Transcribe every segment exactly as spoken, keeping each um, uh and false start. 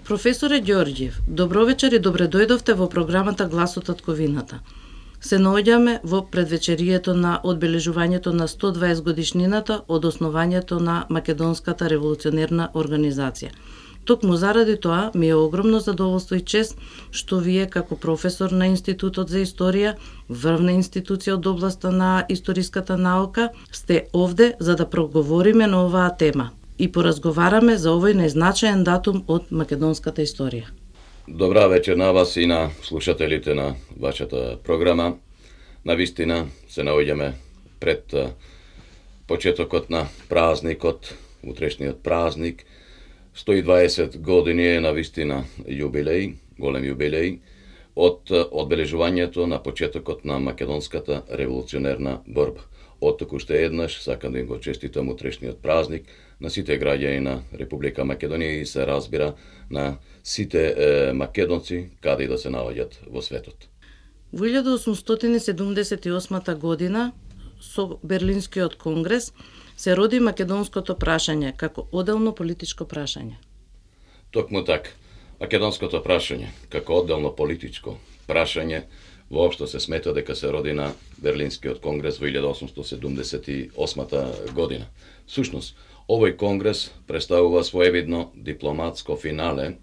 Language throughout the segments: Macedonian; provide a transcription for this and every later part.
Професоре Ѓорѓиев, добро вечер и добре дојдовте во програмата Глас од татковината. Се наоѓаме во предвечерието на одбележувањето на сто и дваесет годишнината од основањето на Македонската револуционерна организација. Токму заради тоа ми е огромно задоволство и чест што вие како професор на Институтот за историја, врвна институција од областа на историската наука, сте овде за да проговориме на оваа тема и поразговараме за овој најзначаен датум од македонската историја. Добра вечер на вас и на слушателите на вашата програма. Навистина се наоѓаме пред почетокот на празникот, утрешниот празник. сто и дваесет години е навистина јубилеј, голем јубилеј, од одбележувањето на почетокот на македонската револуционерна борба. Од токуште еднаш сакам да им го честитам утрешниот празник на сите граѓани на Република Македонија и се разбира на сите е, македонци каде и да се наоѓат во светот. Во илјада осумстотини седумдесет и осма година со Берлинскиот конгрес се роди македонското прашање како одделно политичко прашање. Токму така, македонското прашање како одделно политичко прашање воопшто се смета дека се роди на Берлинскиот конгрес во илјада осумстотини седумдесет и осма година. Всушност, овој конгрес представува своевидно дипломатско финале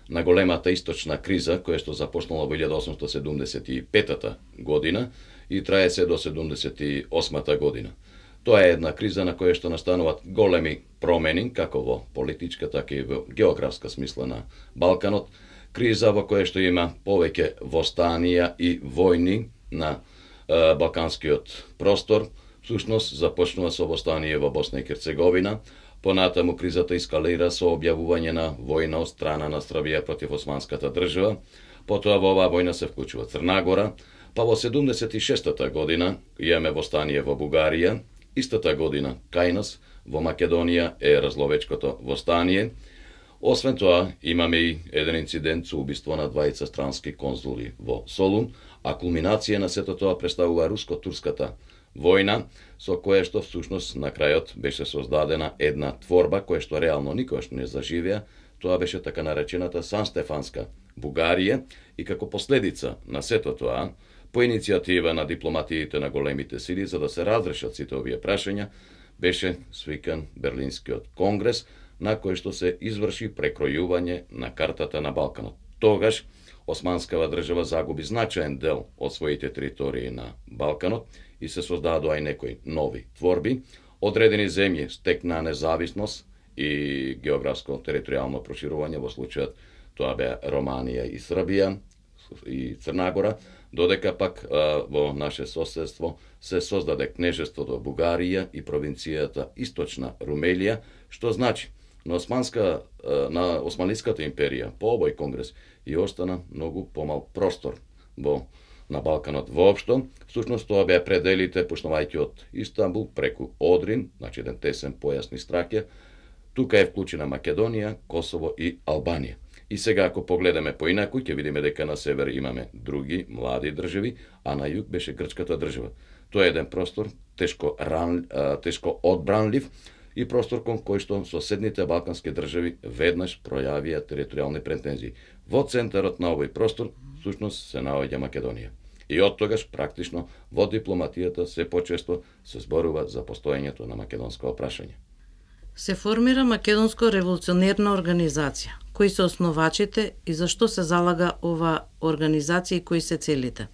на големата источна криза која што започнала во илјада осумстотини седумдесет и пета година и трае се до седумдесет и осма година. Тоа е една криза на која што настануваат големи промени, како во политичка, така и во географска смисла на Балканот, криза во која што има повеќе востанија и војни на е, балканскиот простор. Всушност, започнува со востание во Босна и Херцеговина, понатаму кризата ескалира со објавување на војна од страна на Србија против османската држава, потоа во оваа војна се вклучува Црна Гора, па во седумдесет и шеста година имаме востание во Бугарија. Истата година кај нас во Македонија е разловечкото востание. Освен тоа, имаме и еден инцидент со убиство на двајца странски конзули во Солун, а кулминација на сето тоа представува руско-турската војна, со која што всушност на крајот беше создадена една творба која што реално никогаш не заживеа. Тоа беше така наречената Санстефанска Бугарија и како последица на сето тоа, по иницијатива на дипломатиите на големите сили за да се разрешат сите овие прашања, беше свикан Берлинскиот конгрес на кој што се изврши прекројување на картата на Балканот. Тогаш османскава држава загуби значаен дел од своите територии на Балканот и се создадоа и некои нови творби. Одредени земји стекнаа независност и географско територијално проширување, во случајот тоа беа Романија и Србија и Црна Гора, додека пак а, во наше соседство се создаде кнежеството Бугарија и провинцијата Источна Румелија, што значи на османска на Османлиската империја по овој конгрес и остана многу помал простор во на Балканот воопшто. Всушност тоа беа пределите почнувајќи од Истанбул преку Одрин, значи еден тесен појас низ Тракија. Тука е вклучена Македонија, Косово и Албанија. И сега ако погледаме поинаку, ќе видиме дека на север имаме други млади држави, а на југ беше грчката држава. Тоа е еден простор тешко ран, тешко одбранлив и простор кон кој што соседните балкански држави веднаш пројавија територијални претензии. Во центарот на овој простор всушност се наоѓа Македонија. И од тогаш практично во дипломатијата се почесто се зборува за постоењето на македонско прашање. Се формира Македонско револуционерна организација. Кои се основачите и зашто се залага ова организација и кои се целите?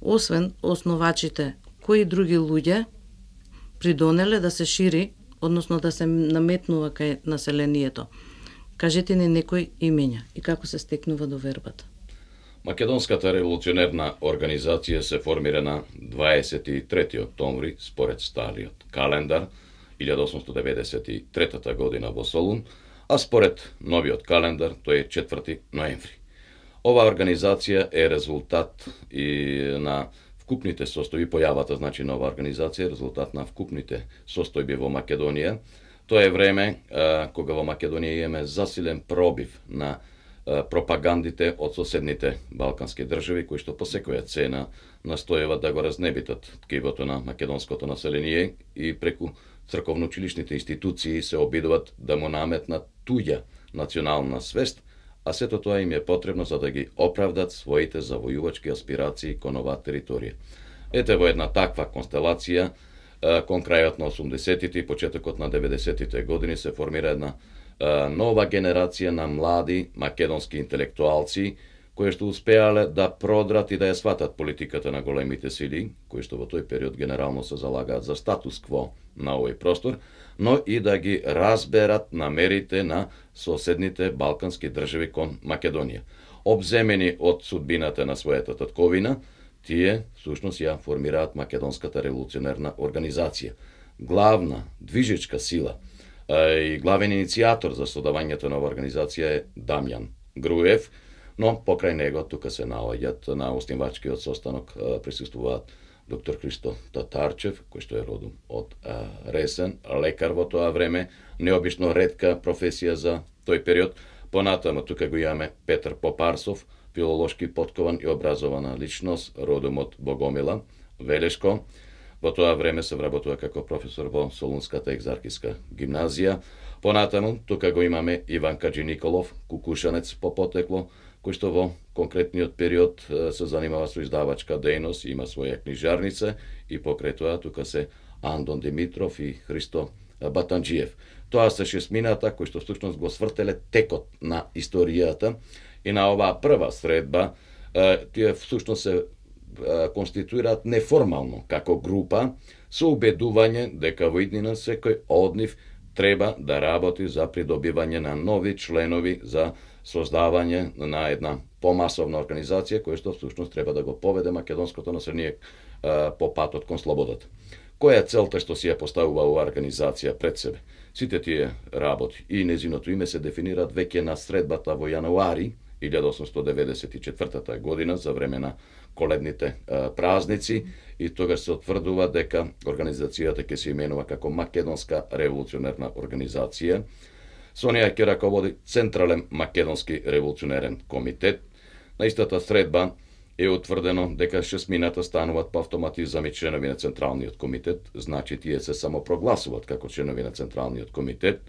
Освен основачите, кои други луѓе придонеле да се шири, односно да се наметнува кај населението? Кажете ни некои имења и како се стекнува довербата. Македонската револуционерна организација се формира на дваесет и трети октомври според стариот календар, илјада осумстотини деветдесет и трета година во Солун, а според новиот календар тој е четврти ноември. Ова организација е резултат и на вкупните состојби, појавата значи нова организација е резултат на вкупните состојби во Македонија. Тоа е време а, кога во Македонија имаме засилен пробив на а, пропагандите од соседните балкански држави, кои што по секоја цена настојуват да го разнебитат ткивото на македонското население и преку црковно-училишните институции се обидуваат да му наметнат туѓа национална свест, а сето тоа им е потребно за да ги оправдат своите завојувачки аспирации кон оваа територија. Ете во една таква констелација, кон крајот на осумдесетите и почетокот на деветдесетите години се формира една нова генерација на млади македонски интелектуалци кои што успеале да продрат и да ја сватат политиката на големите сили, кои што во тој период генерално се залагаат за статус кво на овој простор, но и да ги разберат намерите на соседните балкански држави кон Македонија. Обземени од судбината на својата татковина, тие всушност ја формираат Македонската револуционерна организација. Главна движечка сила и главен иницијатор за создавањето на оваа организација е Дамјан Груев, но покрај него тука се наоѓаат на основачкиот состанок присуствуваат доктор Христо Татарчев, кој што е родом од Ресен, лекар во тоа време, необично ретка професија за тој период. Понатаму тука го имаме Петар Попарсов, филолошки поткован и образована личност, родом од Богомила, Велешко. Во тоа време се вработува како професор во Солунската екзархиска гимназија. Понатаму тука го имаме Иван Каджи Николов, кукушанец по потекло, кој што во конкретниот период се занимава со издавачка дејност, има своја книжарница и покрај тоа тука се Андон Димитров и Христо Батанџиев. Тоа се шесмината кои што всушност го свртеле текот на историјата и на оваа прва средба тие всушност се конституираат неформално како група со убедување дека во иднина секој од нив треба да работи за придобивање на нови членови за создавање на една помасовна организација која што всушност треба да го поведе македонското население по патот кон слободата. Која е целта што си ја поставува оваа организација пред себе? Сите тие работи и незиното име се дефинираат веќе на средбата во јануари илјада осумстотини деветдесет и четвртата година за време на коледните а, празници и тогаш се утврдува дека организацијата ќе се именува како Македонска револуционерна организација. Со неја ќе раководи Централен македонски револуционерен комитет. На истата средба е утврдено дека шесмината стануваат по автоматизам и членови на Централниот комитет, значи тие се самопрогласуваат како членови на Централниот комитет.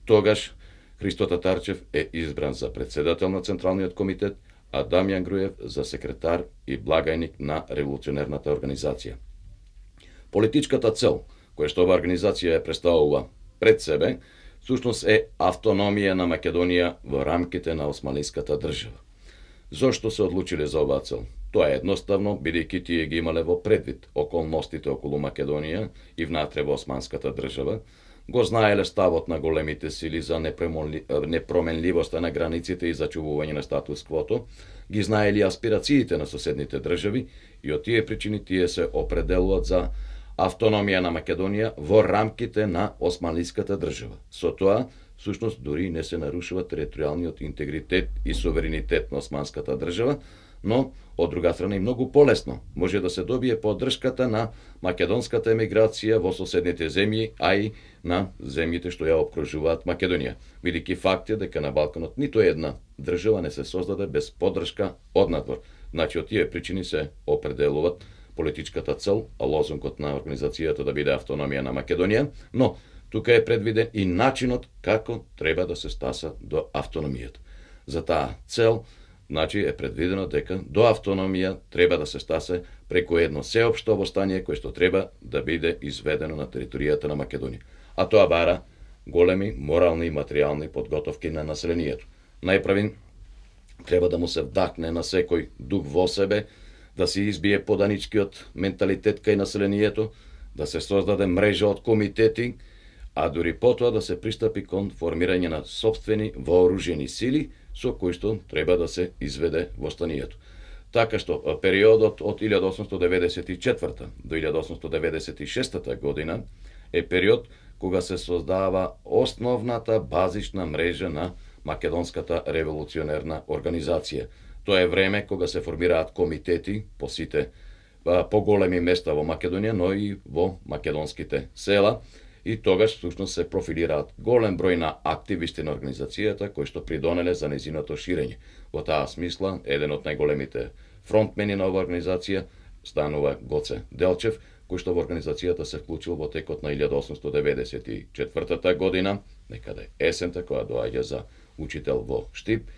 Тогаш Христо Татарчев е избран за председател на Централниот комитет, а Дамјан Груев за секретар и благајник на револуционерната организација. Политичката цел, која што оваа организација ја представува пред себе, всушност е автономија на Македонија во рамките на османлиската држава. Зошто се одлучиле за оваа цел? Тоа е едноставно, бидејќи тие ги имале во предвид околностите околу Македонија и внатре во османската држава, го знаеле ставот на големите сили за непроменливоста на границите и зачувување на статус квото, ги знаели аспирациите на соседните држави и од тие причини тие се определуваат за автономија на Македонија во рамките на османлиската држава. Со тоа, всушност, дури не се нарушува територијалниот интегритет и суверенитет на османската држава, но, од друга страна, и многу полесно може да се добие поддршката на македонската емиграција во соседните земји, а и на земјите што ја обкружуваат Македонија. Бидејќи факт е дека на Балканот ниту една држава не се создаде без поддршка од надвор. Значи, од тие причини се определуваат политичката цел, а лозунгот на организацијата да биде автономија на Македонија, но тука е предвиден и начинот како треба да се стаса до автономијата. За таа цел, значи, е предвидено дека до автономија треба да се стасе преку едно сеопшто востание кој што треба да биде изведено на територијата на Македонија. А тоа бара големи морални и материјални подготовки на населението. Најпрвин треба да му се вдахне на секој дух во себе, да се избие поданичкиот менталитет кај населението, да се создаде мрежа од комитети, а дури потоа да се пристапи кон формирање на сопствени вооружени сили со кои што треба да се изведе востанието. Така што периодот од илјада осумстотини деветдесет и четврта до илјада осумстотини деветдесет и шеста година е период кога се создава основната базична мрежа на Македонската револуционерна организација. Тоа е време кога се формираат комитети по сите поголеми места во Македонија, но и во македонските села, и тогаш всушност се профилираат голем број на активисти на организацијата кои што придонеле за незиното ширење. Во таа смисла, еден од најголемите фронтмени на оваа организација станува Гоце Делчев, кој што во организацијата се вклучил во текот на илјада осумстотини деветдесет и четвртата година, некаде есента, која доаѓа за учител во Штип.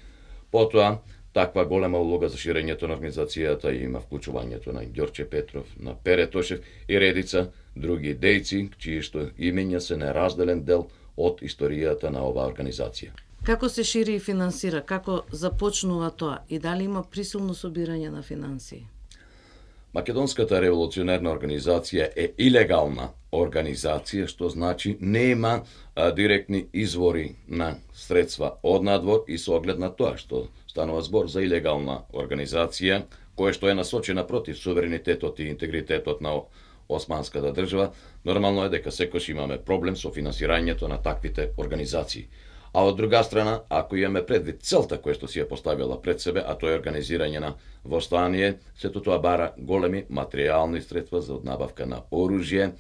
Потоа, таква голема улога за ширењето на организацијата има вклучувањето на Ѓорче Петров, на Пере Тошев и редица други дејци, чии што имења се неразделен дел од историјата на оваа организација. Како се шири и финансира? Како започнува тоа? И дали има присилно собирање на финансии? Македонската револуционерна организација е илегална организација, што значи нема а, директни извори на средства од надвор и со оглед на тоа што станува збор за илегална организација, која што е насочена против суверенитетот и интегритетот на османската држава, нормално е дека секојаш имаме проблем со финансирањето на таквите организации. А од друга страна, ако имаме предвид целта која што си ја поставила пред себе, а тоа е организирање на востание, сето тоа бара големи материјални средства за набавка на оружје,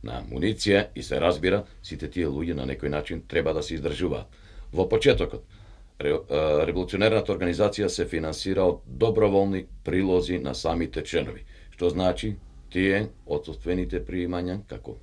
на муниција и се разбира, сите тие луѓе на некој начин треба да се издржуваат. Во почетокот, револуционерната организација се финансира од доброволни прилози на самите членови, што значи тие одсуствените приимања, како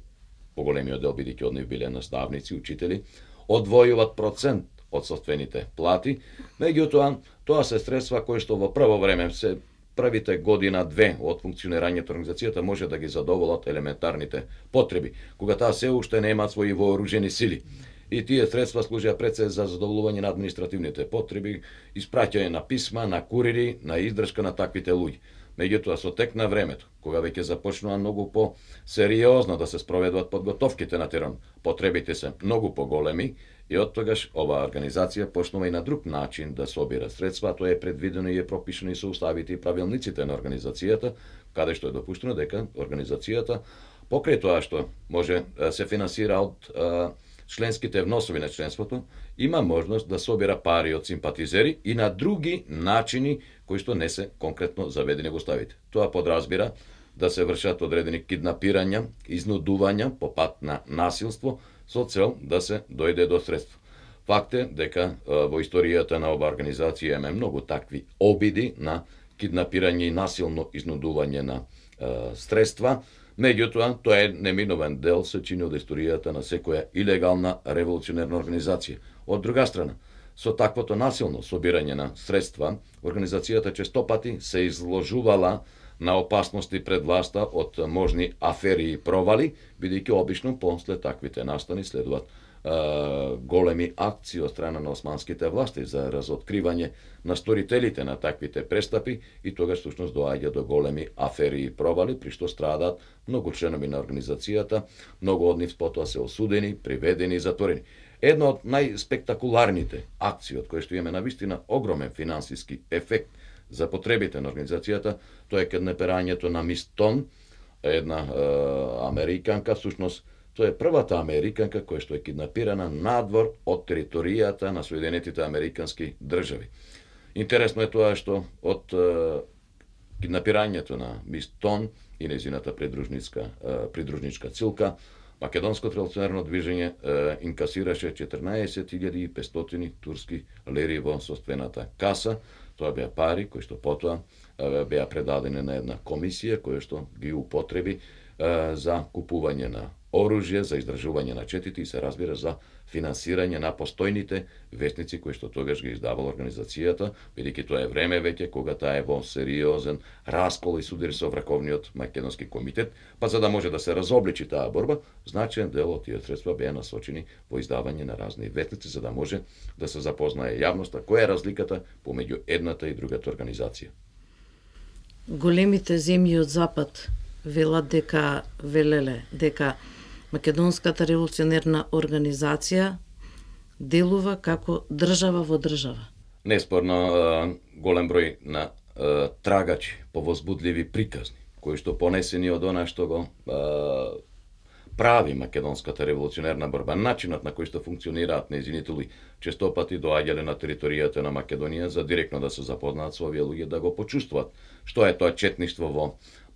поголемиот дел бидејќи од нив биле наставници, учители, одвојуваат процент од собствените плати, меѓутоа тоа се средства кои што во прво време се првите година-две од функционирањето на организацијата може да ги задоволат елементарните потреби, кога таа се уште немаат своји вооружени сили. И тие средства служеа пред се за задоволување на административните потреби, испраќање на писма, на курири, на издршка на таквите луѓе. Меѓутоа, со тек на времето, кога веќе започнува многу по-сериозно да се спроведуваат подготовките на терен, потребите се многу поголеми и од тогаш оваа организација почнува и на друг начин да собира средства, тоа е предвидено и е пропишено и со уставите и правилниците на организацијата, каде што е допуштено дека организацијата покрај тоа што може се финансира од членските вносови на членството, има можност да собира пари од симпатизери и на други начини кои што не се конкретно заведени во уставите. Тоа подразбира да се вршат одредени киднапирања, изнудувања по пат на насилство со цел да се дојде до средства. Факт е дека во историјата на оваа организација има многу такви обиди на киднапирање и насилно изнудување на е, средства. Меѓутоа, тоа е неминовен дел се чини од историјата на секоја илегална револуционерна организација. Од друга страна, со таквото насилно собирање на средства, организацијата честопати се изложувала на опасности пред власта од можни афери и провали, бидејќи обично после таквите настани следуваат е, големи акции од страна на османските власти за разоткривање на сторителите на таквите престапи и тогаш всушност доаѓа до големи афери и провали, при што страдаат многу членови на организацијата, многу од нив потоа се осудени, приведени и затворени. Една од најспектакуларните акции од кои што имаме навистина огромен финансиски ефект за потребите на организацијата, тоа е киднапирањето на Мис Тон, една е, американка, всушност тоа е првата американка која што е киднапирана надвор од територијата на Соединетите американски држави. Интересно е тоа што од е, киднапирањето на Мис Тон и незината придружничка, е, придружничка цилка, Македонското револуционерно движење е, инкасираше четрнаесет илјади и петстотини турски лири во собствената каса. Тоа беа пари кои што потоа е, беа предадени на една комисија која што ги употреби е, за купување на оружје, за издржување на четите и се разбира за финансирање на постојните вестници кои што тогаш ги издавала организацијата, бидејќи тоа е време веќе кога таа е во сериозен раскол и судир со Враковниот македонски комитет, па за да може да се разобличи таа борба, значаен дел од тие средства беа насочени во издавање на разни вестници за да може да се запознае јавноста која е разликата помеѓу едната и другата организација. Големите земји од запад велат дека велеле дека Македонската револуционерна организација делува како држава во држава. Неспорно голем број на трагачи по возбудливи приказни, кои што понесени од она што го прави Македонската револуционерна борба, начинот на кој што функционираат нејзините луѓе, честопати доаѓале на територијата на Македонија за директно да се запознаат со овие луѓе, да го почувствуваат што е тоа четништво во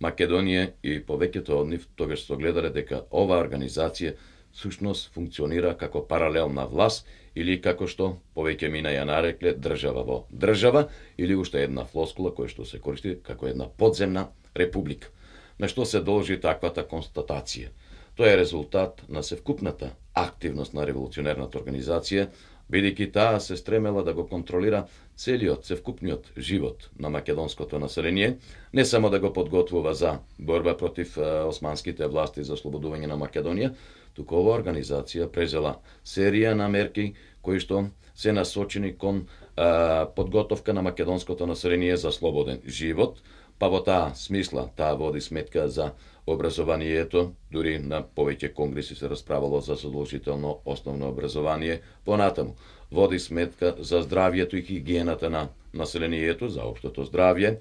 Македонија и повеќето од нив тогаш се гледале дека оваа организација всушност функционира како паралелна власт или како што повеќе мина ја нарекле држава во држава или уште една флоскула која што се користи како една подземна република. На што се должи таквата констатација? Тоа е резултат на севкупната активност на револуционерната организација бидејќи таа се стремела да го контролира целиот, севкупниот живот на македонското население, не само да го подготвува за борба против османските власти за ослободување на Македонија, туку ова организација презела серија на мерки кои што се насочени кон а, подготовка на македонското население за слободен живот, па во таа смисла таа води сметка за образованието, дури на повеќе конгреси се расправало за задолжително основно образование, понатаму води сметка за здравјето и хигиената на населението, за општото здравје,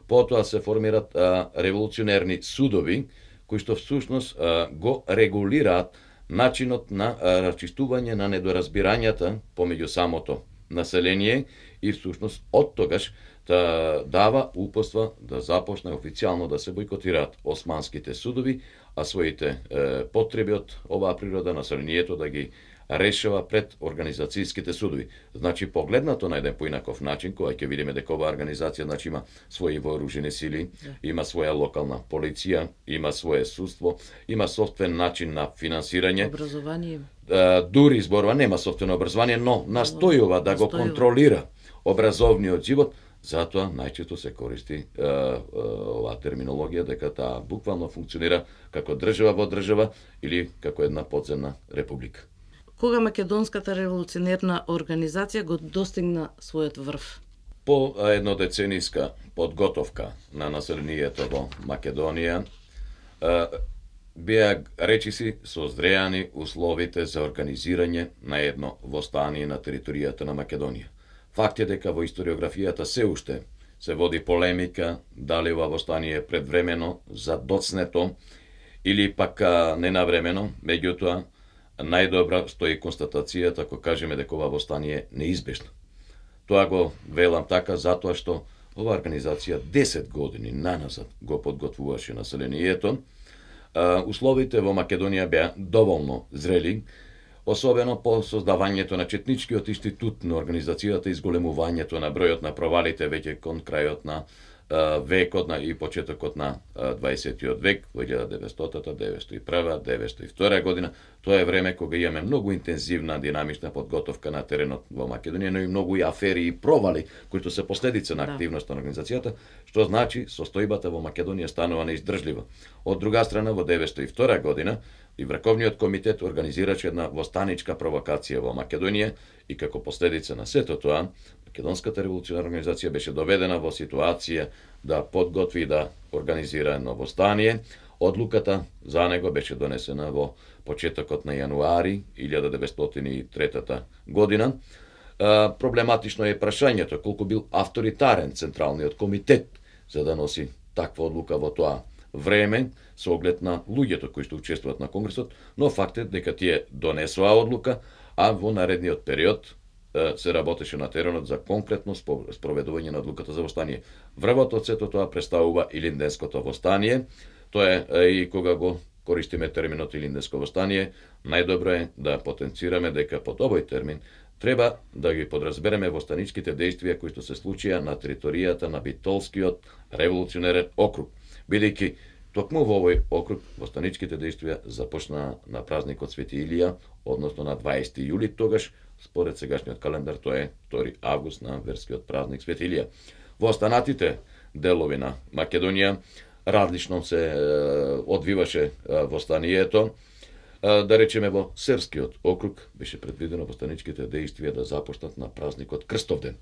потоа се формираат а, револуционерни судови, кои што всушност а, го регулираат начинот на а, расчистување на недоразбирањата помеѓу самото население и всушност од тогаш да дава упорства да започне официјално да се бойкотираат османските судови, а своите е, потреби од оваа природа населението да ги решава пред организацијските судови. Значи, погледнато на еден поинаков начин, кога ќе видиме дека оваа организација значи, има своји вооружени сили, има своја локална полиција, има свое судство, има собствен начин на финансирање. Образование. Дури изборува нема собствено образование, но настојува да го контролира образовниот живот. Затоа најчесто се користи е, е, оваа терминологија дека таа буквално функционира како држава во држава или како една подземна република. Кога македонската револуционерна организација го достигна својот врв? По еднодецениска подготовка на населението во Македонија, е, беа речиси созреани условите за организирање на едно востание на територијата на Македонија. Факт е дека во историографијата се уште се води полемика дали ова востание е предвремено, задоцнето или пак ненавремено, меѓутоа најдобра стои констатацијата ако кажеме дека ова востание е неизбежно. Тоа го велам така затоа што ова организација десет години наназад го подготвуваше населението. Условите во Македонија беа доволно зрели, особено по создавањето на Четничкиот институт на организацијата и зголемувањето на бројот на провалите веќе кон крајот на а, векот на и почетокот на дваесеттиот век, во илјада деветстотина, деветстотина и прва, деветстотина и втора година. Тоа е време кога имаме многу интензивна динамична подготовка на теренот во Македонија, но и многу и афери и провали кои се последица на активноста на организацијата, што значи состојбата во Македонија станува неиздржлива. Од друга страна, во деветстотина и втора година и Врховниот комитет организираше една востаничка провокација во Македонија и како последица на сето тоа, Македонската револуционарна организација беше доведена во ситуација да подготви и да организира едно востание. Одлуката за него беше донесена во почетокот на јануари илјада деветстотина и трета година. Проблематично е прашањето колку бил авторитарен Централниот комитет за да носи таква одлука во тоа време со оглед на луѓето кои што учествуваат на конгресот, но факт е дека тие донесоа одлука, а во наредниот период се работеше на теренот за конкретно спроведување на одлуката за востание. Врвот од сето тоа представува Илинденското востание. Тоа е и кога го користиме терминот Илинденско востание, најдобро е да потенцираме дека под овој термин треба да ги подразбереме востаничките дејствија кои што се случија на територијата на Битолскиот револуционерен округ, бидејќи токму во овој округ востаничките дејствија започна на празникот Свети Илија, односно на дваесети јули, тогаш според сегашниот календар тоа е втори август на верскиот празник Свети Илија. Во останатите делови на Македонија различно се одвиваше востанието. Да речеме во Серскиот округ беше предвидено востаничките дејствија да започнат на празникот Крстовден.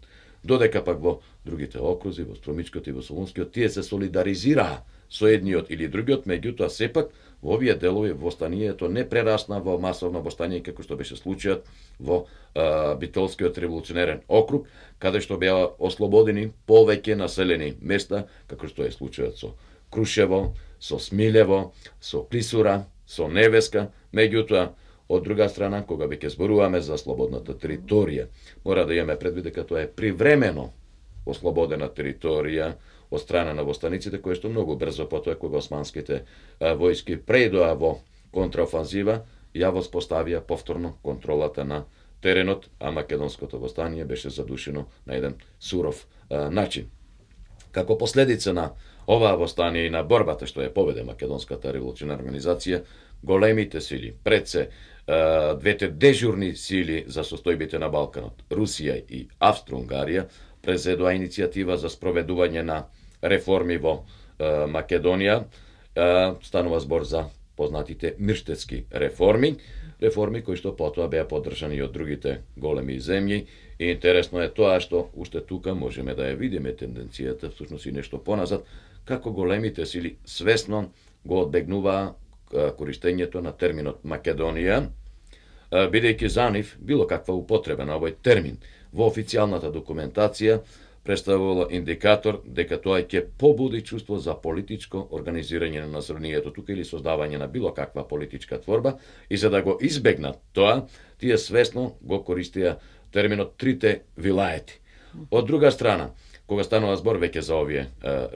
Додека пак во другите окрузи, во Струмичкиот и во Солунскиот, тие се солидаризираа со едниот или другиот, меѓутоа сепак во овие делови востанието не прерасна во масовно востание како што беше случајот во а, Битолскиот револуционерен округ, каде што беа ослободени повеќе населени места, како што е случајот со Крушево, со Смилево, со Клисура, со Невеска, меѓутоа од друга страна, кога веќе зборуваме за слободната територија, мора да имаме предвид дека тоа е привремено ослободена територија од страна на востаниците, кои што многу брзо потоа кога османските а, војски преидоа во контраофанзива, ја воспоставија повторно контролата на теренот, а македонското востание беше задушено на еден суров а, начин. Како последица на оваа востание и на борбата што ја поведе Македонската револуционарна организација, големите сили, пред се двете дежурни сили за состојбите на Балканот, Русија и Австро-Унгарија, презедоа иницијатива за спроведување на реформи во Македонија. Станува збор за познатите мирштетски реформи, реформи кои што потоа беа поддржани и од другите големи земји. И интересно е тоа што уште тука можеме да ја видиме тенденцијата, всушност и нешто поназад, како големите сили свесно го одбегнуваа користењето на терминот Македонија, бидејќи за нив било каква употреба на овој термин во официјалната документација представувало индикатор дека тоа ќе побуди чувство за политичко организирање на населението тука или создавање на било каква политичка творба, и за да го избегнат тоа, тие свесно го користија терминот трите вилаети. Од друга страна, кога станува збор веќе за овие е,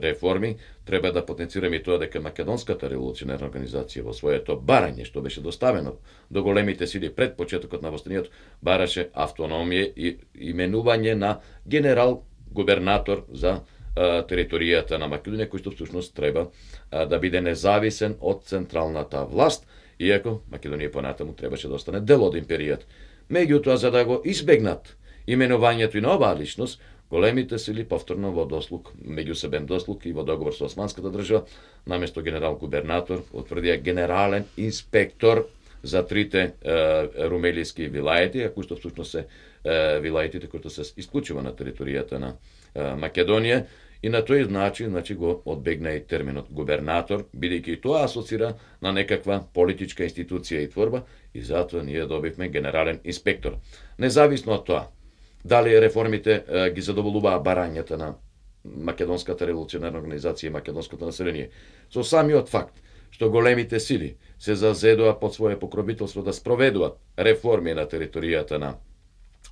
реформи, треба да потенцираме и тоа дека Македонската револуционерна организација во своето барање, што беше доставено до големите сили пред почетокот на востанието, бараше автономија и именување на генерал губернатор за а, територијата на Македонија, кој што всушност треба а, да биде независен од централната власт, иако Македонија понатаму требаше да остане дел од империјата. Меѓутоа, за да го избегнат именувањето и на оваа личност, големите сили повторно во дослук, меѓусебен дослук и во договор со османската држава, наместо генерал губернатор, утврдија генерален инспектор за трите е, румелиски вилаети, а кои што всушност се е, вилаетите кои што се исклучува на територијата на е, Македонија, и на тој начин, значи, го одбегна и терминот губернатор, бидејќи и тоа асоцира на некаква политичка институција и творба, и затоа ние добивме генерален инспектор. Независно од тоа, дали реформите е, ги задоволуваа барањата на Македонската револуционерна организација и македонското население, со самиот факт што големите сили се зазедоа под своје покровителство да спроведуваат реформи на територијата на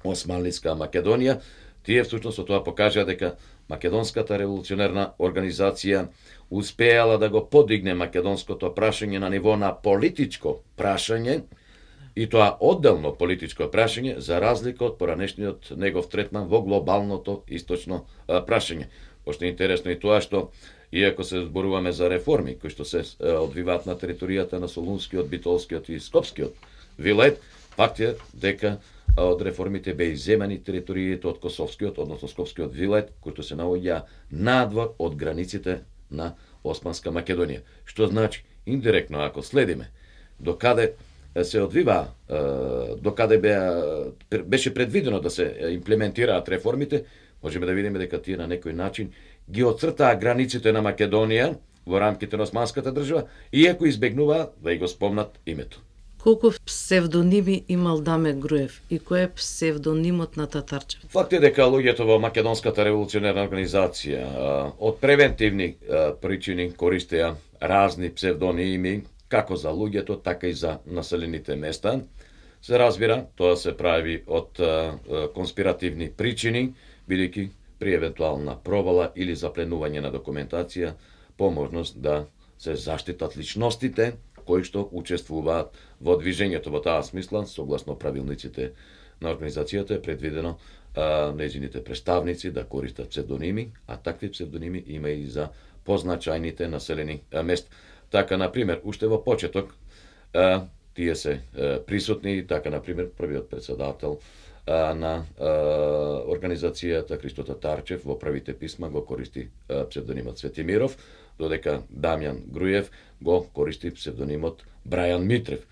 Османлиска Македонија, тие всушност со тоа покажаа дека Македонската револуционерна организација успеала да го подигне македонското прашање на ниво на политичко прашање, и тоа одделно политичко прашање, за разлика од поранешниот негов третман во глобалното источно а, прашање. Пошто е интересно и тоа што, иако се зборуваме за реформи кои што се одвиваат на територијата на Солунскиот, Битолскиот и Скопскиот вилает, факт е дека од реформите беа изземани териториите од Косовскиот, односно Скопскиот вилает, кои се наоѓа надвор од границите на Османска Македонија. Што значи, индиректно, ако следиме докаде се одвива, докаде беа, беше предвидено да се имплементираат реформите, можеме да видиме дека тие на некој начин ги оцртаа границите на Македонија во рамките на Османската држава, иако избегнуваа да и го спомнат името. Колку псевдоними имал Даме Груев и кој е псевдонимот на Татарчев? Факт е дека луѓето во Македонската револуционерна организација од превентивни причини користеа разни псевдоними, како за луѓето, така и за населените места. Се разбира, тоа се прави од конспиративни причини, бидејќи при евентуална провала или запленување на документација, по можност да се заштитат личностите кои што учествуваат во движењето. Во таа смисла, согласно правилниците на организацијата, е предвидено а, нејзините представници да користат псевдоними, а такви псевдоними има и за позначајните населени а, места. Така, например, уште во почеток, а, тие се а, присутни, така, например, првиот председател а, на а, организацијата Христо Татарчев во првите писма го користи а, псевдонимот Светимиров, додека Дамјан Груев го користи псевдонимот Брајан Митрев.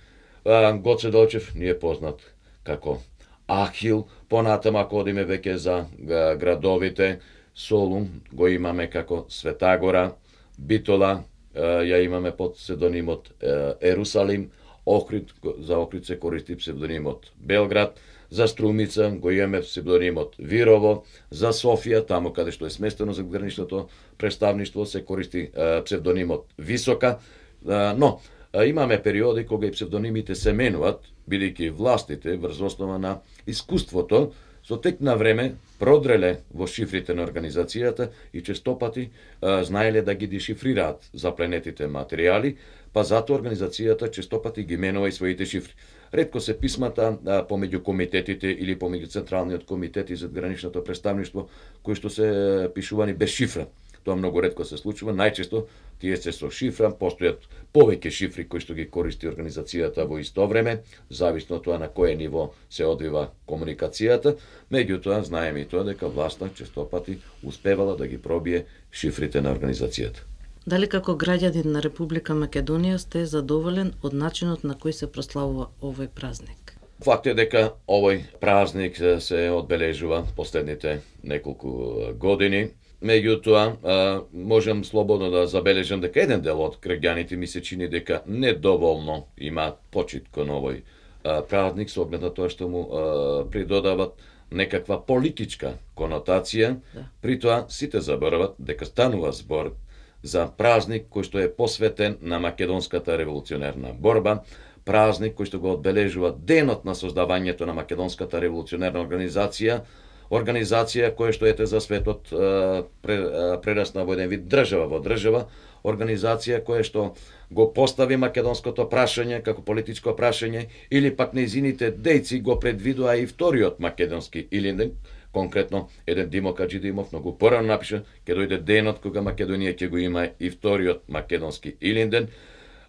А, Гоце Делчев ни е познат како Ахил, понатаму ако одиме веќе за а, градовите, Солун го имаме како Светагора, Битола ја имаме под псевдонимот Ерусалим, Охрид, за Охрид се користи псевдонимот Белград, за Струмица го имаме псевдонимот Вирово, за Софија, таму каде што е сместено за граничното представништво, се користи псевдонимот Висока, но имаме периоди кога и псевдонимите се менуваат, бидејќи властите врз основа на искуството со тек на време продреле во шифрите на организацијата и честопати а, знаеле да ги дешифрираат запленетите материјали, па затоа организацијата честопати ги менува и своите шифри. Ретко се писмата а, помеѓу комитетите или помеѓу Централниот комитет и задграничното представништво, кои што се пишувани без шифра. тоа многу ретко се случува, најчесто тие се со шифра, постојат повеќе шифри кои што ги користи организацијата во исто време, зависно тоа на кое ниво се одвива комуникацијата, меѓутоа знаеме и тоа дека власта честопати успевала да ги пробие шифрите на организацијата. Дали како граѓанин на Република Македонија сте задоволен од начинот на кој се прославува овој празник? Факт е дека овој празник се одбележува последните неколку години. Меѓутоа, можам слободно да забележам дека еден дел од граѓаните ми се чини дека недоволно имаат почит кон овој празник со оглед на тоа што му придодават некаква политичка конотација. Да. При тоа сите заборават дека станува збор за празник кој што е посветен на македонската револуционерна борба, празник кој што го одбележува денот на создавањето на македонската револуционерна организација, организација која што ете за светот прерасна во еден вид држава во држава, организација која што го постави македонското прашање како политичко прашање, или пак нејзините дејци го предвидува и вториот македонски Илинден. Конкретно, еден Димо Каџидимов многу порано напиша, ќе дојде денот кога Македонија ќе го има и вториот македонски Илинден,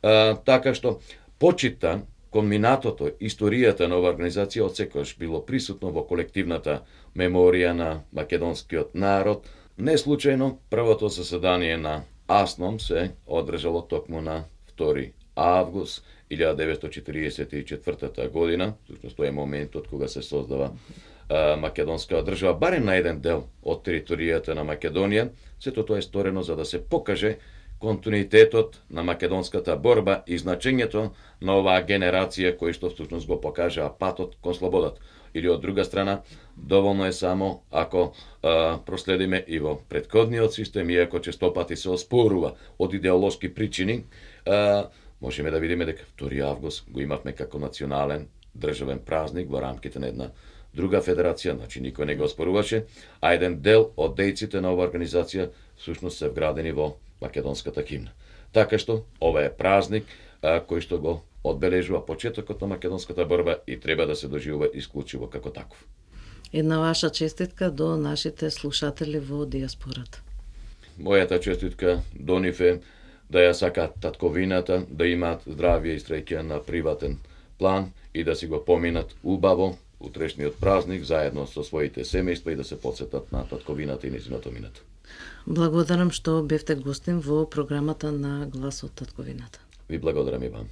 а, така што почита кон минатото, историјата на оваа организација отсекогаш било присутно во колективната меморија на македонскиот народ. Не случајно, првото заседание на АСНОМ се одржало токму на втори август илјада деветстотини четиридесет и четвртата година, всушност тоа е моментот кога се создава а, македонска држава, барем на еден дел од територијата на Македонија. Сето тоа е сторено за да се покаже континуитетот на македонската борба и значењето на оваа генерација кој што всушност го покажа патот кон слободата. Или од друга страна, доволно е само ако а, проследиме и во претходниот систем, иако честопати се оспорува од идеолошки причини, а, можеме да видиме дека втори август го имавме како национален државен празник во рамките на една друга федерација, значи никој не го оспоруваше, а еден дел од дејците на оваа организација всушност се вградени во македонската химна. Така што ова е празник а, кој што го одбележува почетокот на македонската борба и треба да се доживува исклучиво како таков. Една ваша честитка до нашите слушатели во диаспората. Мојата честитка до нив е да ја сакаат татковината, да имаат здравје и среќа на приватен план и да си го поминат убаво утрешниот празник заедно со своите семејства и да се потсетат на татковината и нејзиното минато. Благодарам што бевте гостин во програмата на Глас од татковината. Ви благодарам и вам.